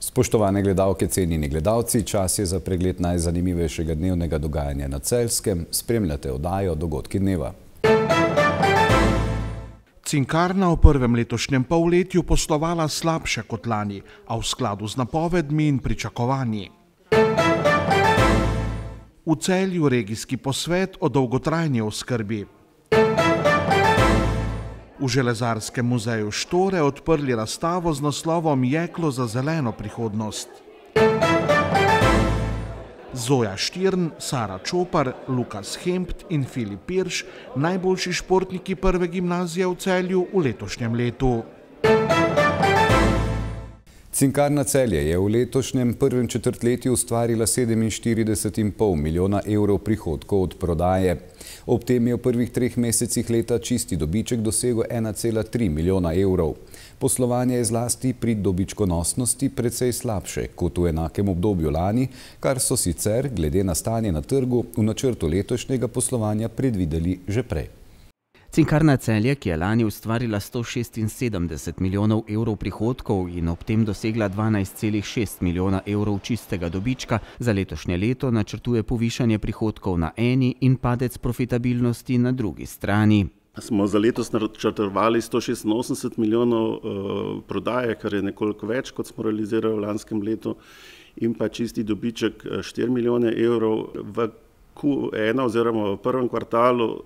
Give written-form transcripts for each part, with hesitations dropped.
Spoštovane gledalke, cenjeni gledalci, čas je za pregled najzanimivejšega dnevnega dogajanja na Celjskem. Spremljate oddajo Dogodki dneva. Cinkarna v prvem letošnjem polletju poslovala slabše kot lani, a v skladu z napovedmi in pričakovanji. V Celju regijski posvet o dolgotrajni oskrbi. V Železarskem muzeju Štore odprli razstavo z naslovom Jeklo za zeleno prihodnost. Zoja Štirn, Sara Čopar, Lukas Hempt in Filip Pirš, najboljši športniki prve gimnazije v Celju v letošnjem letu. Cinkarna Celje je v letošnjem prvem četrtletju ustvarila 47,5 milijona evrov prihodkov od prodaje. Ob tem je v prvih 3 mesecih leta čisti dobiček dosegel 1,3 milijona evrov. Poslovanje je zlasti pri dobičkonosnosti precej slabše kot v enakem obdobju lani, kar so sicer, glede na stanje na trgu, v načrtu letošnjega poslovanja predvideli že prej. Cinkarna Celje, ki je lani ustvarila 176 milijonov evrov prihodkov in ob tem dosegla 12,6 milijona evrov čistega dobička, za letošnje leto načrtuje povišanje prihodkov na eni in padec profitabilnosti na drugi strani. Smo za letos načrtovali 186 milijonov prodaje, kar je nekoliko več, kot smo realizirali v lanskem letu, in pa čisti dobiček 4 milijone evrov. V Q1 oziroma v prvem kvartalu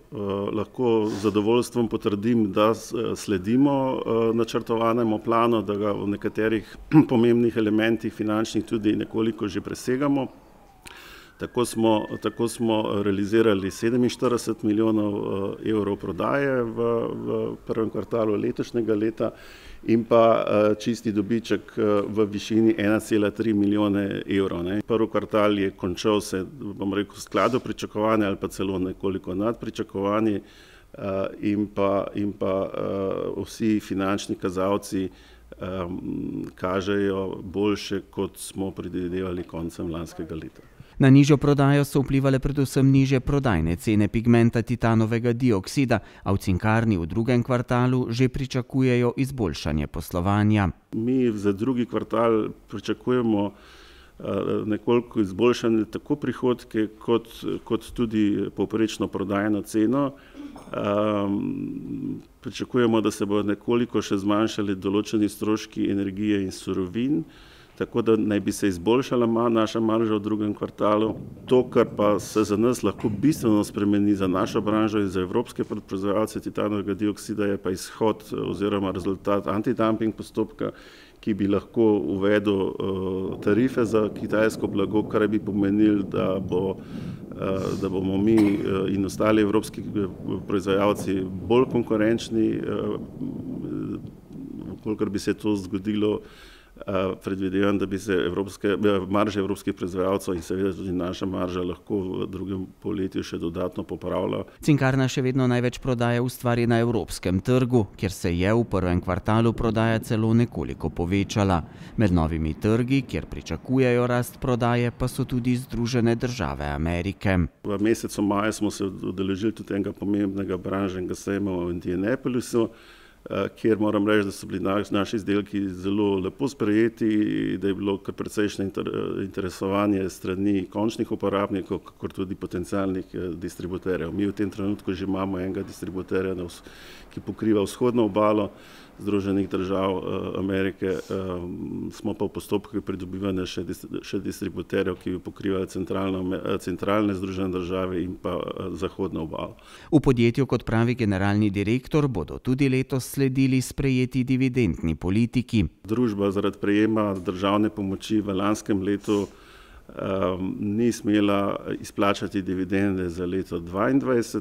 lahko z zadovoljstvom potrdim, da sledimo načrtovanemu planu, da ga v nekaterih pomembnih elementih finančnih tudi nekoliko že presegamo. Tako smo realizirali 47 milijonov evrov prodaje v prvem kvartalu letošnjega leta in pa čisti dobiček v višini 1,3 milijone evrov. Prvi kvartal je končal se, bom rekel, v skladu pričakovanja ali pa celo nekoliko nad pričakovanji in pa vsi finančni kazalci kažejo boljše, kot smo predvidevali koncem lanskega leta. Na nižjo prodajo so vplivale predvsem nižje prodajne cene pigmenta titanovega dioksida, a v cinkarni v drugem kvartalu že pričakujejo izboljšanje poslovanja. Mi za drugi kvartal pričakujemo nekoliko izboljšanje tako prihodke kot tudi povprečno prodajno ceno. Pričakujemo, da se bodo nekoliko še zmanjšali določeni stroški energije in surovin, tako da naj bi se izboljšala naša marža v drugem kvartalu. To, kar pa se za nas lahko bistveno spremeni za našo branžo in za evropske proizvajalce titanovega dioksida, je pa izhod oziroma rezultat antidumping postopka, ki bi lahko uvedel tarife za kitajsko blago, kar bi pomenilo, da bomo mi in ostali evropski proizvajalci bolj konkurenčni. Kolikor bi se to zgodilo, predvidevam, da bi se marže evropskih proizvajalcev in seveda tudi naša marža lahko v drugem polletju še dodatno popravila. Cinkarna še vedno največ prodaje ustvari na evropskem trgu, kjer se je v prvem kvartalu prodaja celo nekoliko povečala. Med novimi trgi, kjer pričakujejo rast prodaje, pa so tudi Združene države Amerike. V mesecu maju smo se udeležili tudi enega pomembnega branžnega sejma v Indianapolisu, kjer moram reči, da so bili naši izdelki zelo lepo sprejeti, da je bilo kar precejšnje interesovanje strani končnih uporabnikov, kakor tudi potencialnih distributerjev. Mi v tem trenutku že imamo enega distributerja, ki pokriva vzhodno obalo Združenih držav Amerike, smo pa v postopku pridobivanja še distributerjev, ki pokrivajo centralne Združene države in pa zahodno obalo. V podjetju, kot pravi generalni direktor, bodo tudi letos sledili sprejeti dividendni politiki. Družba zaradi prejema državne pomoči v lanskem letu ni smela izplačati dividende za leto 2022.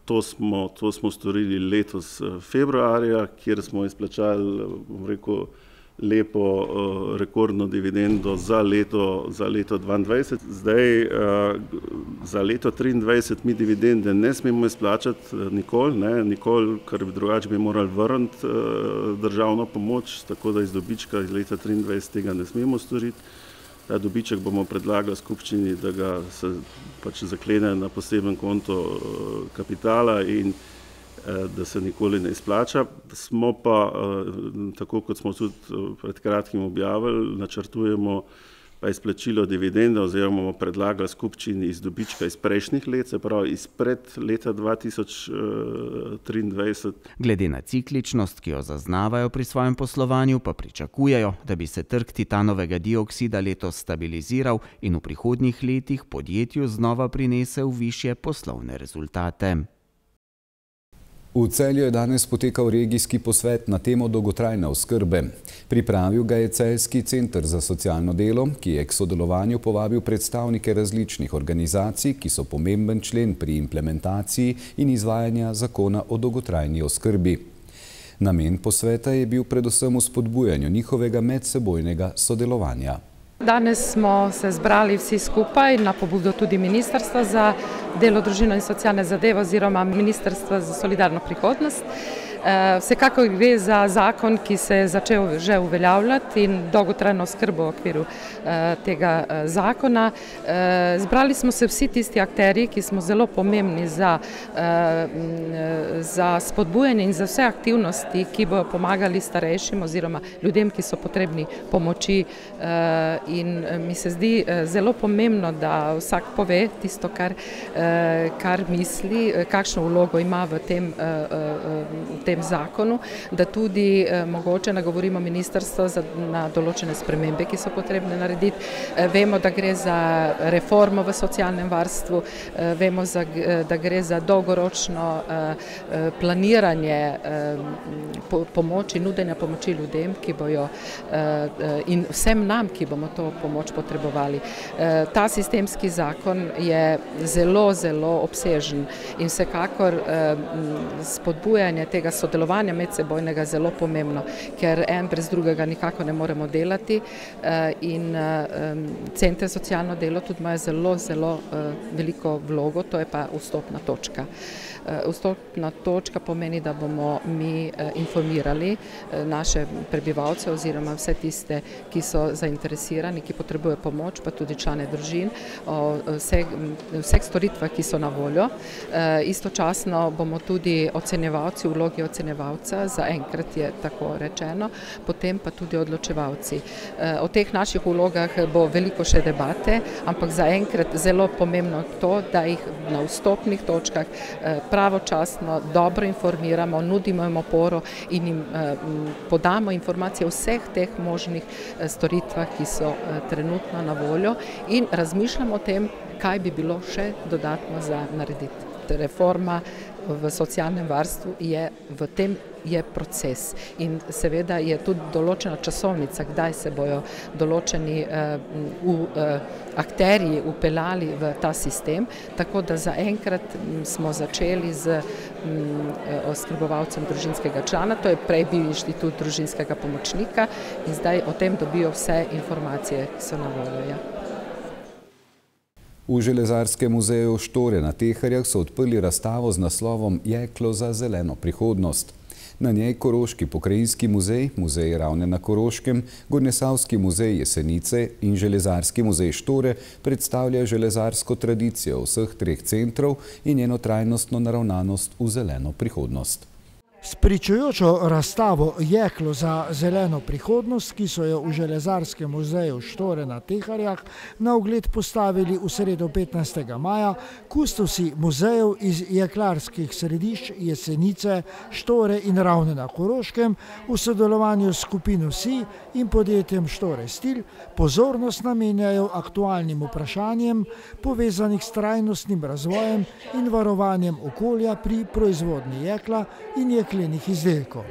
To smo storili letos februarja, kjer smo izplačali, bom rekel, lepo rekordno dividendo za leto 2022. Zdaj za leto 2023 mi dividende ne smemo izplačati nikoli, ker drugače bi morali vrniti državno pomoč, tako da iz dobička iz leta 2023 tega ne smemo storiti. Ta dobiček bomo predlagali skupščini, da ga se pač zaklene na poseben konto kapitala in da se nikoli ne izplača. Smo pa, tako kot smo tudi pred kratkim objavili, načrtujemo pa izplačilo dividende oziroma bomo predlagali skupščini iz dobička iz prejšnjih let, se pravi izpred leta 2023. Glede na cikličnost, ki jo zaznavajo pri svojem poslovanju, pa pričakujejo, da bi se trg titanovega dioksida letos stabiliziral in v prihodnjih letih podjetju znova prinesel višje poslovne rezultate. V Celju je danes potekal regijski posvet na temo dolgotrajne oskrbe. Pripravil ga je Celjski center za socialno delo, ki je k sodelovanju povabil predstavnike različnih organizacij, ki so pomemben člen pri implementaciji in izvajanju zakona o dolgotrajni oskrbi. Namen posveta je bil predvsem v spodbujanju njihovega medsebojnega sodelovanja. Danes smo se zbrali vsi skupaj na pobudo tudi Ministrstva za delo, družino in socialne zadeve oziroma Ministrstva za solidarno prihodnost. Vsekakor gre za zakon, ki se je začel že uveljavljati in dolgotrajno oskrbo v okviru tega zakona. Zbrali smo se vsi tisti akterji, ki smo zelo pomembni za spodbujanje in za vse aktivnosti, ki bodo pomagali starejšim oziroma ljudem, ki so potrebni pomoči. In mi se zdi zelo pomembno, da vsak pove tisto, kar misli, kakšno vlogo ima v tem zakonu, da tudi mogoče nagovorimo ministrstvo na določene spremembe, ki so potrebne narediti. Vemo, da gre za reformo v socialnem varstvu, vemo, da gre za dolgoročno planiranje pomoči, nudenja pomoči ljudem, ki bojo in vsem nam, ki bomo to pomoč potrebovali. Ta sistemski zakon je zelo, zelo obsežen in vsekakor spodbujanje tega sodelovanja medsebojnega zelo pomembno, ker en brez drugega nikako ne moremo delati in Center za socialno delo tudi imajo zelo, zelo veliko vlogo, to je pa vstopna točka. Vstopna točka pomeni, da bomo mi informirali naše prebivalce oziroma vse tiste, ki so zainteresirani, ki potrebujejo pomoč, pa tudi člane družin, o vseh storitvah, ki so na voljo. Istočasno bomo tudi ocenjevalci, vlogi ocenjevalca, zaenkrat je tako rečeno, potem pa tudi odločevalci. O teh naših vlogah bo veliko še debate, ampak zaenkrat zelo pomembno to, da jih na vstopnih točkah pravočasno, dobro informiramo, nudimo jim oporo in jim podamo informacije o vseh teh možnih storitvah, ki so trenutno na voljo in razmišljamo o tem, kaj bi bilo še dodatno za narediti. Reforma v socialnem varstvu je proces in seveda je tudi določena časovnica, kdaj se bojo določeni akterji upeljali v ta sistem, tako da zaenkrat smo začeli z oskrbovalcem družinskega člana, to je prej bil inštitut družinskega pomočnika in zdaj o tem dobijo vse informacije, ki so na voljo. V Železarskem muzeju Štore na Teharjah so odprli razstavo z naslovom Jeklo za zeleno prihodnost. Na njej Koroški pokrajinski muzej, Muzej Ravne na Koroškem, Gornjesavski muzej Jesenice in Železarski muzej Štore predstavljajo železarsko tradicijo vseh treh centrov in njeno trajnostno naravnanost v zeleno prihodnost. S pričujočo razstavo Jeklo za zeleno prihodnost, ki so jo v Železarskem muzeju Štore na Teharjah na ogled postavili v sredo 15. maja, kustosi muzejev iz jeklarskih središč Jesenice, Štore in Ravne na Koroškem v sodelovanju s skupino SI in podjetjem Štore Stil pozornost namenjajo aktualnim vprašanjem povezanih s trajnostnim razvojem in varovanjem okolja pri proizvodnji jekla in jeklenih izdelkov.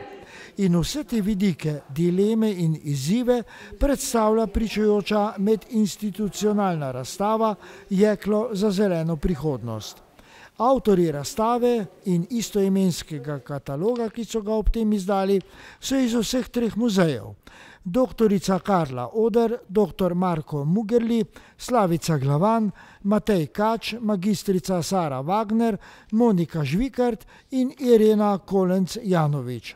In vse te vidike, dileme in izzive predstavlja pričujoča medinstitucionalna razstava Jeklo za zeleno prihodnost. Avtorji razstave in istoimenskega kataloga, ki so ga ob tem izdali, so iz vseh treh muzejev. Doktorica Karla Oder, dr. Marko Mugerli, Slavica Glavan, Matej Kač, magistrica Sara Wagner, Monika Žvikart in Irena Kolenc-Janovič.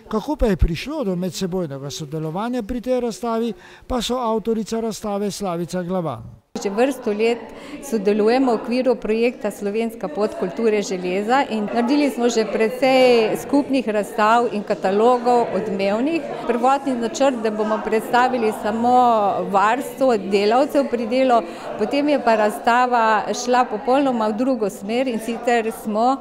Kako pa je prišlo do medsebojnega sodelovanja pri tej razstavi, pa so avtorica razstave Slavica Glavan. Že vrsto let sodelujemo v okviru projekta Slovenska pot kulture železa in naredili smo že precej skupnih razstav in katalogov odmevnih. Prvotni načrt, da bomo predstavili samo varstvo delavcev pri delu, potem je pa razstava šla popolnoma v drugo smer in sicer smo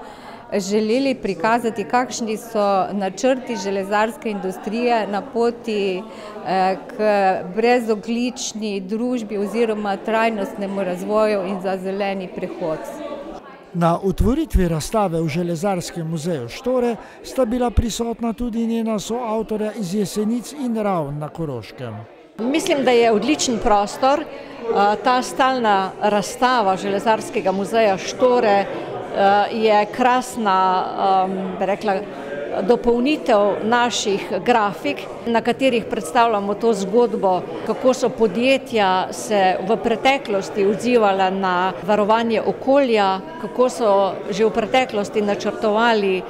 želeli prikazati, kakšni so načrti železarske industrije na poti k brezogljični družbi oziroma trajnostnemu razvoju in za zeleni prehod. Na otvoritvi razstave v Železarskem muzeju Štore sta bila prisotna tudi njena soavtorja iz Jesenic in Ravn na Koroškem. Mislim, da je odličen prostor. Ta stalna razstava Železarskega muzeja Štore je krasna, bi rekla, dopolnitev naših grafik, na katerih predstavljamo to zgodbo, kako so podjetja se v preteklosti odzivala na varovanje okolja, kako so že v preteklosti načrtovali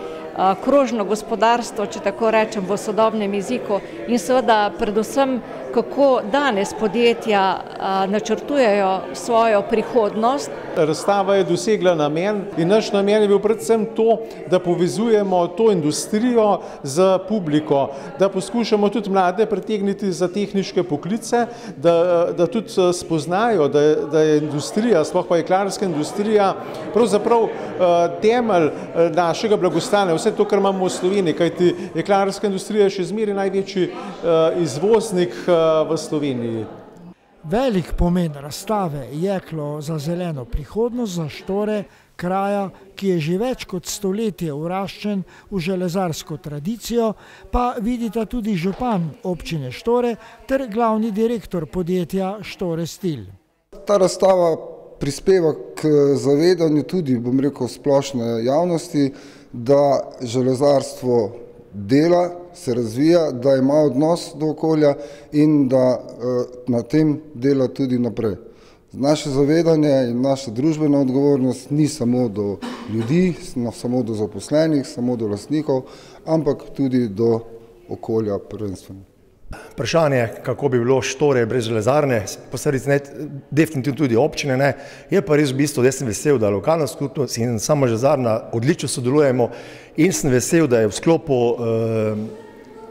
krožno gospodarstvo, če tako rečem v sodobnem jeziku, in seveda predvsem, kako danes podjetja načrtujejo svojo prihodnost. Razstava je dosegla namen in naš namen je bil predvsem to, da povezujemo to industrijo z publiko, da poskušamo tudi mlade pritegniti za tehniške poklice, da tudi spoznajo, da je industrija, sploh pa jeklarska industrija, pravzaprav temelj našega blagostanja, vse to, kar imamo v Sloveniji, kajti jeklarska industrija je še zmeraj največji izvoznik v Sloveniji. Velik pomen razstave Jeklo za zeleno prihodnost za Štore, kraja, ki je že več kot stoletje vraščen v železarsko tradicijo, pa vidita tudi župan občine Štore ter glavni direktor podjetja Štore Stil. Ta razstava prispeva k zavedanju tudi, bom rekel, splošne javnosti, da železarstvo dela, se razvija, da ima odnos do okolja in da na tem dela tudi naprej. Naše zavedanje in naša družbena odgovornost ni samo do ljudi, samo do zaposlenih, samo do lastnikov, ampak tudi do okolja prvenstveno. Vprašanje, kako bi bilo Štore brez železarne, posledice definitivno tudi občine ne, je pa res v bistvu, da sem vesel, da lokalna skupnost in sama železarna odlično sodelujemo in sem vesel, da je v sklopu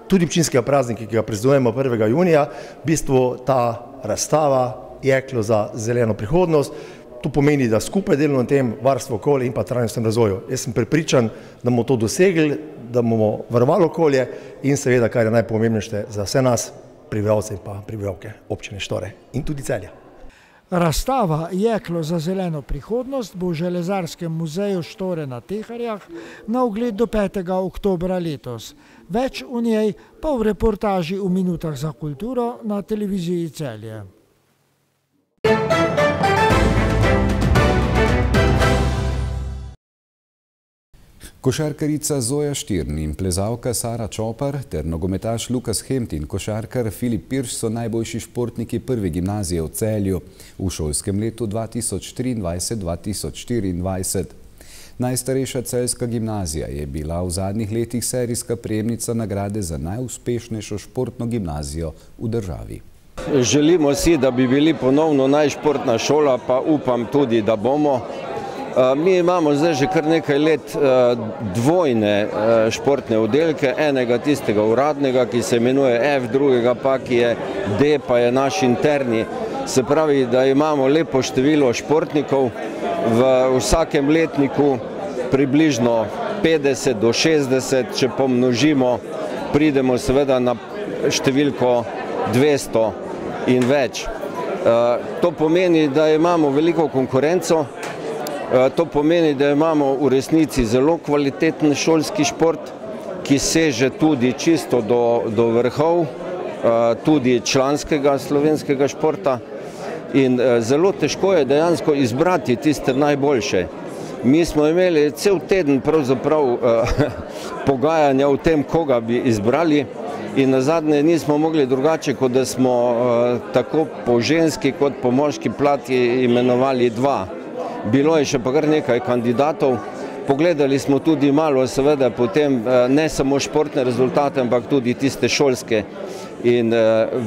tudi občinskega praznika, ki ga praznujemo 1. junija, v bistvu ta razstava Jeklo za zeleno prihodnost. To pomeni, da skupaj delamo na tem varstvu okolja in pa trajnostnem razvoju. Jaz sem prepričan, da bomo to dosegli, da bomo varovali okolje in seveda, kar je najpomembnejše za vse nas, prebivalce in pa prebivalke občine Štore in tudi Celja. Razstava Jeklo za zeleno prihodnost bo v Železarskem muzeju Štore na Teharjah na ogled do 5. oktobra letos. Več o njej pa v reportaži v Minutah za kulturo na televiziji Celje. Košarkarica Zoja Štirn in plezalka Sara Čopar ter nogometaš Lukas Hempt in košarkar Filip Pirš so najboljši športniki prve gimnazije v Celju v šolskem letu 2023-2024. Najstarejša celjska gimnazija je bila v zadnjih letih serijska prejemnica nagrade za najuspešnejšo športno gimnazijo v državi. Želimo si, da bi bili ponovno najšportna šola, pa upam tudi, da bomo. Mi imamo zdaj že kar nekaj let dvojne športne oddelke, enega tistega uradnega, ki se imenuje F, drugega pa, ki je D, pa je naš interni. Se pravi, da imamo lepo število športnikov, v vsakem letniku približno 50 do 60, če pomnožimo, pridemo seveda na številko 200 in več. To pomeni, da imamo veliko konkurenco. To pomeni, da imamo v resnici zelo kvaliteten šolski šport, ki seže tudi čisto do vrhov, tudi članskega slovenskega športa. In zelo težko je dejansko izbrati tiste najboljše. Mi smo imeli cel teden pravzaprav pogajanja o tem, koga bi izbrali. In nazadnje nismo mogli drugače, kot da smo tako po ženski kot po moški plati imenovali dva. Bilo je še pa kar nekaj kandidatov, Pogledali smo tudi malo seveda potem ne samo športne rezultate, ampak tudi tiste šolske. In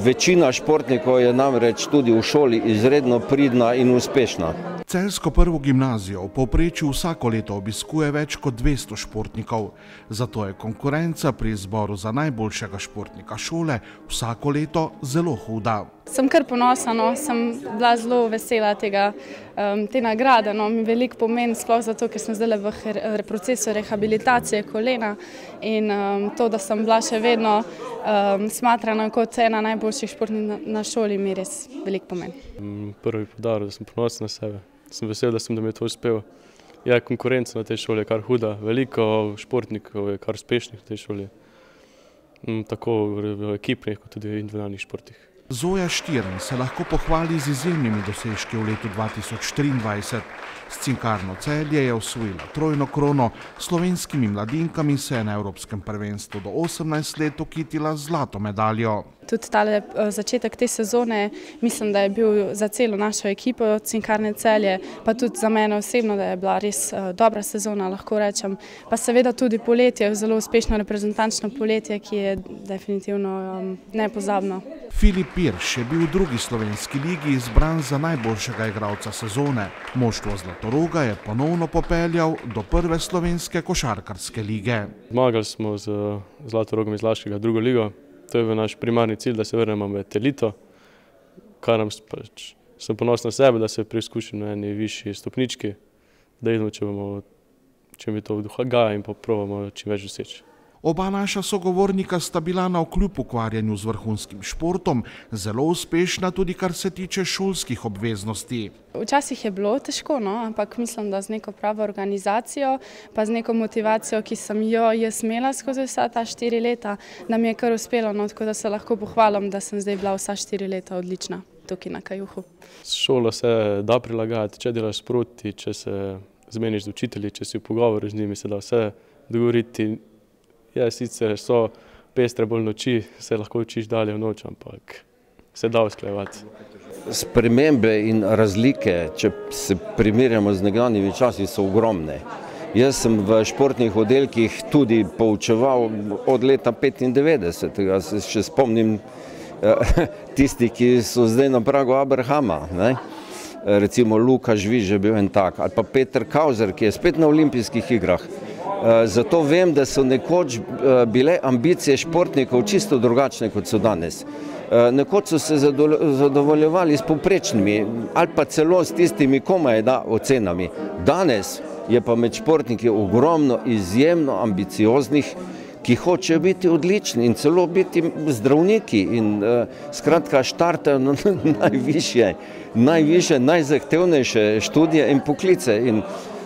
večina športnikov je namreč tudi v šoli izredno pridna in uspešna. Celjsko prvo gimnazijo v povprečju vsako leto obiskuje več kot 200 športnikov. Zato je konkurenca pri izboru za najboljšega športnika šole vsako leto zelo huda. Sem kar ponosna, sem bila zelo vesela te nagrade. Mi veliko pomeni, sploh zato, ker sem zdaj v procesu rehabilitacije kolena in to, da sem bila še vedno smatrana kot ena najboljših športnikov na šoli, mi res veliko pomeni. Prvi poudarek, da sem ponosen na sebe. Sem vesel, da mi je to uspelo. Je konkurenca na tej šoli kar huda. Veliko športnikov je kar uspešnih v tej šoli. Tako v ekipnih, kot tudi v individualnih športih. Zoja Štirn se lahko pohvali z izjemnimi dosežki v letu 2023. S Cinkarno Celje je osvojila trojno krono, slovenskimi mladinkami se je na Evropskem prvenstvu do 18 let okitila zlato medaljo. Tudi tale začetek te sezone mislim, da je bil za celo našo ekipo Cinkarne Celje, pa tudi za mene osebno, da je bila res dobra sezona, lahko rečem. Pa seveda tudi poletje, zelo uspešno reprezentančno poletje, ki je definitivno nepozabno. Filip Pirš je bil v drugi slovenski ligi izbran za najboljšega igralca sezone. Moštvo Zlatoroga je ponovno popeljal do prve slovenske košarkarske lige. Zmagali smo z Zlatorogom iz Laškega drugo ligo. To je naš primarni cilj, da se vrnemo v elito, kar nam sem ponosen na sebe, da se preizkušam na eni višji stopnički, da vidimo, če mi to vduha in probamo čim več doseči. Oba naša sogovornika sta bila navkljub ukvarjanju z vrhunskim športom zelo uspešna tudi kar se tiče šolskih obveznosti. Včasih je bilo težko, ampak mislim, da z neko pravo organizacijo pa z neko motivacijo, ki sem jo jaz imela skozi vsa ta 4 leta, nam je kar uspelo, tako da se lahko pohvalim, da sem zdaj bila vsa 4 leta odlična tukaj na Kajuhu. S šolo se da prilagajati, če delaš sproti, če se zmeniš z učitelji, če si v pogovoru z njimi, se da vse dogovoriti. Sicer so pestre bolj noči, se lahko učiš dalje v noč, ampak se da usklajevati. Spremembe in razlike, če se primerjamo z nekdanjimi časi, so ogromne. Jaz sem v športnih oddelkih tudi poučeval od leta 1995, se še spomnim tisti, ki so zdaj na pragu Abrahama. Recimo Luka Žviž je bil en tak, ali pa Peter Kauzer, ki je spet na olimpijskih igrah. Zato vem, da so nekoč bile ambicije športnikov čisto drugačne, kot so danes. Nekoč so se zadovoljevali s povprečnimi ali pa celo s tistimi komaj ocenami. Danes je pa med športniki ogromno izjemno ambicioznih, ki hočejo biti odlični in celo biti zdravniki in skratka štartajo na najvišje, najzahtevnejše študije in poklice.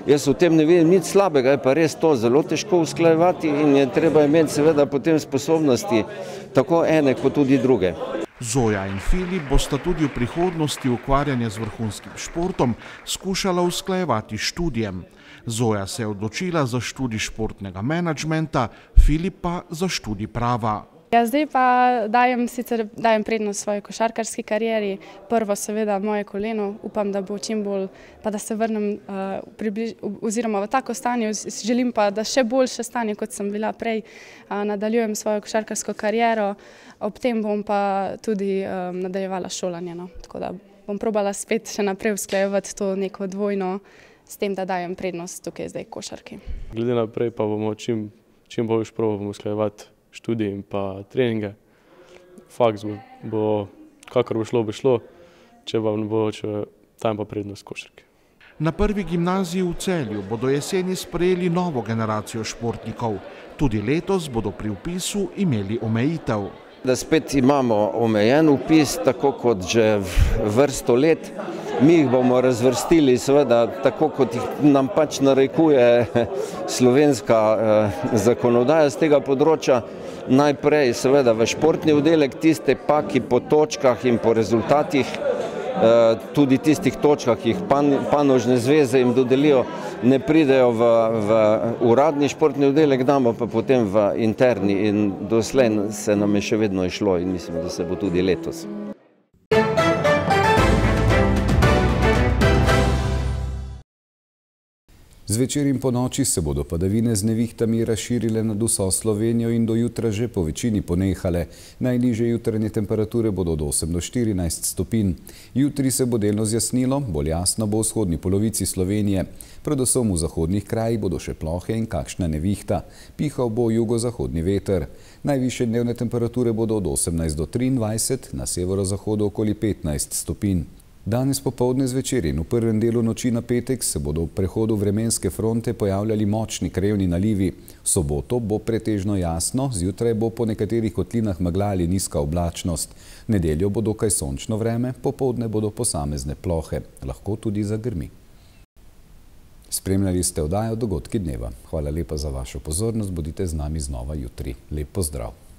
Jaz v tem ne vidim nič slabega, je pa res to zelo težko usklajevati in je treba imeti seveda potem sposobnosti tako ene kot tudi druge. Zoja in Filip bosta tudi v prihodnosti ukvarjanje z vrhunskim športom skušala usklajevati študijem. Zoja se je odločila za študij športnega menedžmenta, Filip pa za študij prava. Zdaj pa dajem prednost svoji košarkarski karieri. Prvo seveda moje koleno, upam, da bo čim bolj, pa da se vrnem oziroma v tako stanje, želim pa, da še boljše stanje, kot sem bila prej, nadaljujem svojo košarkarsko kariero, ob tem bom pa tudi nadaljevala šolanje. Tako da bom probala spet še naprej usklajevati to neko dvojno, s tem, da dajem prednost tukaj zdaj košarki. Glede naprej pa bomo čim bolj probali usklajevati študij in pa treninge. Faks bo, kakor bo šlo, če vam bo, tam pa prednost košarke. Na prvi gimnaziji v Celju bodo jeseni sprejeli novo generacijo športnikov. Tudi letos bodo pri vpisu imeli omejitev. Da spet imamo omejen vpis, tako kot že vrsto let. Mi jih bomo razvrstili seveda tako, kot jih nam pač narekuje slovenska zakonodaja z tega področja. Najprej seveda v športni oddelek, tiste pa, ki po točkah in po rezultatih, tudi tistih točkah, ki jih panožne zveze jim dodelijo, ne pridejo v uradni športni oddelek, damo pa potem v interni in doslej se nam je še vedno išlo in mislim, da se bo tudi letos. Zvečer in po noči se bodo padavine z nevihtami razširile nad vso Slovenijo in do jutra že po večini ponehale. Najnižje jutranje temperature bodo od 8 do 14 stopinj. Jutri se bo delno zjasnilo, bolj jasno bo v vzhodni polovici Slovenije. Predvsem v zahodnih krajih bodo še plohe in kakšna nevihta. Pihal bo jugozahodni veter. Najvišje dnevne temperature bodo od 18 do 23, na severozahodu okoli 15 stopinj. Danes popoldne zvečer in v prvem delu noči na petek se bodo v prehodu vremenske fronte pojavljali močni krajevni nalivi. V soboto bo pretežno jasno, zjutraj bo po nekaterih kotlinah megla ali nizka oblačnost. V nedeljo bo dokaj sončno vreme, popoldne bodo posamezne plohe, lahko tudi zagrmi. Spremljali ste oddajo Dogodki dneva. Hvala lepa za vašo pozornost, bodite z nami znova jutri. Lep pozdrav.